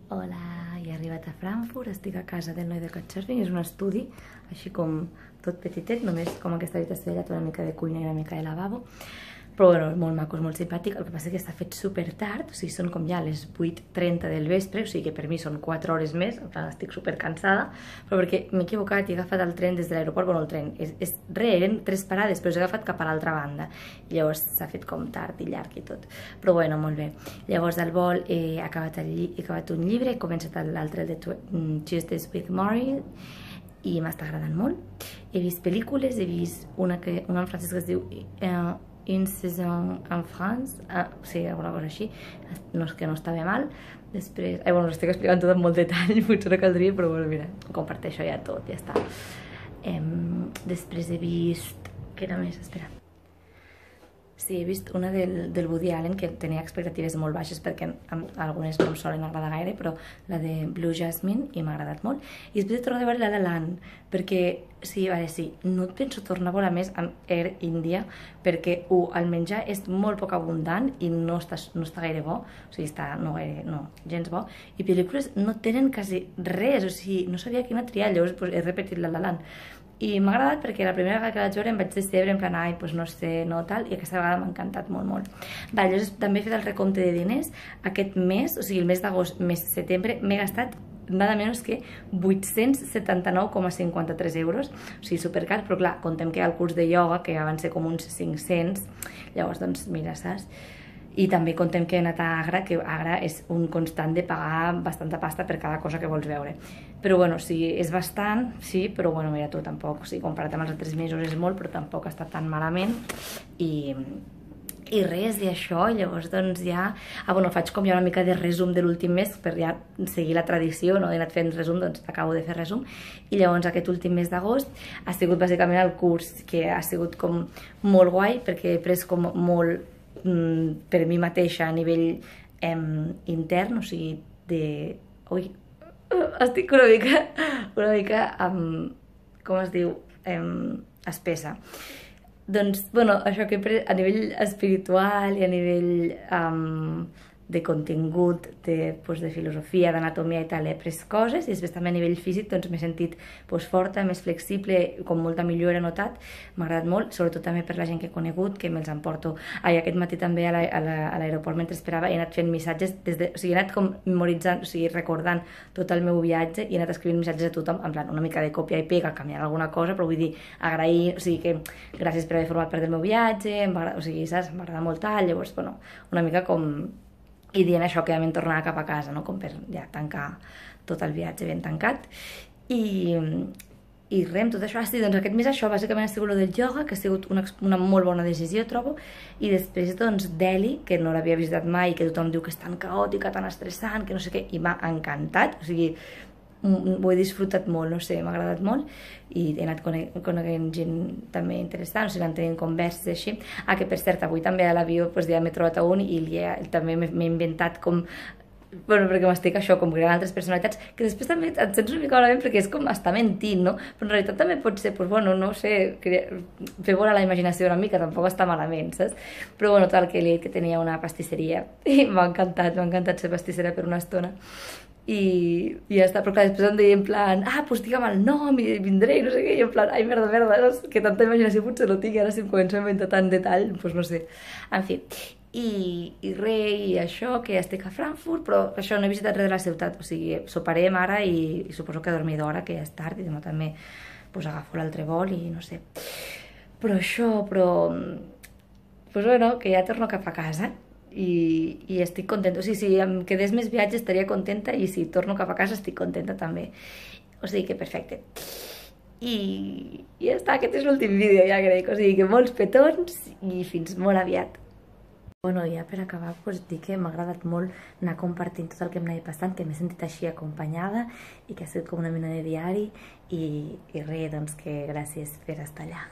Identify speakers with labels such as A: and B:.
A: Hola, he arribat a Frankfurt, estic a casa del noi de Couchsurfing, és un estudi així com tot petitet, només com aquesta habitació allà, una mica de cuina i una mica de lavabo, però bueno, molt maco, és molt simpàtic. El que passa és que està fet super tard, o sigui, són com ja les 8:30 del vespre, o sigui que per mi són 4 hores més, en plan estic super cansada, però perquè m'he equivocat i he agafat el tren des de l'aeroport, bueno, el tren, eren 3 parades, però he agafat cap a l'altra banda, i llavors s'ha fet com tard i llarg i tot, però bueno, molt bé. Llavors del vol he acabat un llibre, he començat l'altre, el de Tuesdays with Morrie, i m'està agradant molt. He vist pel·lícules, he vist una en francès que es diu Une saison en France, sí, alguna cosa així, que no estava mal. Després, bueno, us estic explicant tot amb molt detall, potser no caldria, però bueno, mira, comparteixo ja tot, ja està. Després he vist, què era més? Espera. Sí, he vist una del Woody Allen, que tenia expectatives molt baixes perquè algunes no em solen agradar gaire, però la de Blue Jasmine, i m'ha agradat molt. I després he tornat a veure La La Land, perquè, sí, no et penso tornar a veure més amb Air India, perquè, el menjar és molt poc abundant i no està gaire bo, o sigui, no, gens bo, i pel·lícules no tenen quasi res, o sigui, no sabia quina triar, llavors he repetit La La Land. I m'ha agradat perquè la primera vegada que la vaig veure em vaig decebre, en plan, doncs no sé, no, tal, i aquesta vegada m'ha encantat molt, molt. Llavors també he fet el recompte de diners. Aquest mes, o sigui, el mes d'agost, mes de setembre, m'he gastat nada menys que 879,53 euros, o sigui, supercar, però clar, contem que hi ha el curs de ioga, que ja van ser com uns 500, llavors, doncs, mira, saps? I també contem que he anat a Agra, que Agra és un constant de pagar bastanta pasta per cada cosa que vols veure. Però bueno, sí, és bastant, sí, però bueno, mira tu, tampoc, sí, comparat amb els altres mesos és molt, però tampoc està tan malament. I res, i això, llavors doncs ja... bueno, faig com ja una mica de resum de l'últim mes, per ja seguir la tradició, no? He anat fent resum, doncs acabo de fer resum. I llavors aquest últim mes d'agost ha sigut bàsicament el curs, que ha sigut com molt guai, perquè he pres com molt per mi mateixa a nivell intern, o sigui, ui, estic una mica, com es diu, espessa. Doncs, bueno, això que he pres a nivell espiritual i a nivell de contingut, de filosofia, d'anatomia i tal, he pres coses, i després també a nivell físic m'he sentit forta, més flexible, com molta millora he notat, m'ha agradat molt, sobretot també per la gent que he conegut, que me'ls emporto. Aquest matí també a l'aeroport, mentre esperava, he anat fent missatges, o sigui, he anat com memoritzant, o sigui, recordant tot el meu viatge, i he anat escrivint missatges a tothom, en plan, una mica de còpia i pega, canviant alguna cosa, però vull dir, agrair, o sigui, que gràcies per haver format part del meu viatge, o sigui, saps, m'agrada molt tal, llavors, bueno, una mica com... i dient això que ja m'he tornat cap a casa, no? Com per ja tancar tot el viatge ben tancat. I res, amb tot això, doncs aquest mes això bàsicament ha sigut el del ioga, que ha sigut una molt bona decisió, trobo, i després doncs Delhi, que no l'havia visitat mai, que tothom diu que és tan caòtica, tan estressant, que no sé què, i m'ha encantat, o sigui, ho he disfrutat molt, no sé, m'ha agradat molt, i he anat coneguent gent també interessant, o sigui, anant tenint converses així. Que per cert, avui també a l'avió ja m'he trobat a un i també m'he inventat com, bueno, perquè m'estic això, com creant altres personalitats, que després també et sents una mica malament perquè és com estar mentint, no? Però en realitat també pot ser, doncs bueno, no sé, fer volar la imaginació una mica, tampoc està malament, saps? Però bueno, tal, que li he dit que tenia una pastisseria i m'ha encantat ser pastissera per una estona. I ja està, però clar, després em deia en plan, doncs digue'm el nom i vindré i no sé què, i en plan, ai, merda, saps? Que tanta imaginació potser no tinc, ara si em començo a inventar tant detall, doncs no sé. En fi, i res, i això, que estic a Frankfurt, però això, no he visitat res de la ciutat, o sigui, soparem ara i suposo que dormir d'hora, que ja és tard, i demà també agafo l'altre vol i no sé. Però això, doncs bueno, que ja torno cap a casa. I estic contenta, o sigui, si em quedés més viatge estaria contenta, i si torno cap a casa estic contenta també, o sigui que perfecte. I ja està, aquest és l'últim vídeo, ja crec, o sigui que molts petons i fins molt aviat. Bueno, ja per acabar, dir que m'ha agradat molt anar compartint tot el que m'anava passant, que m'he sentit així acompanyada i que ha sigut com una mena de diari, i res, doncs que gràcies per estar allà.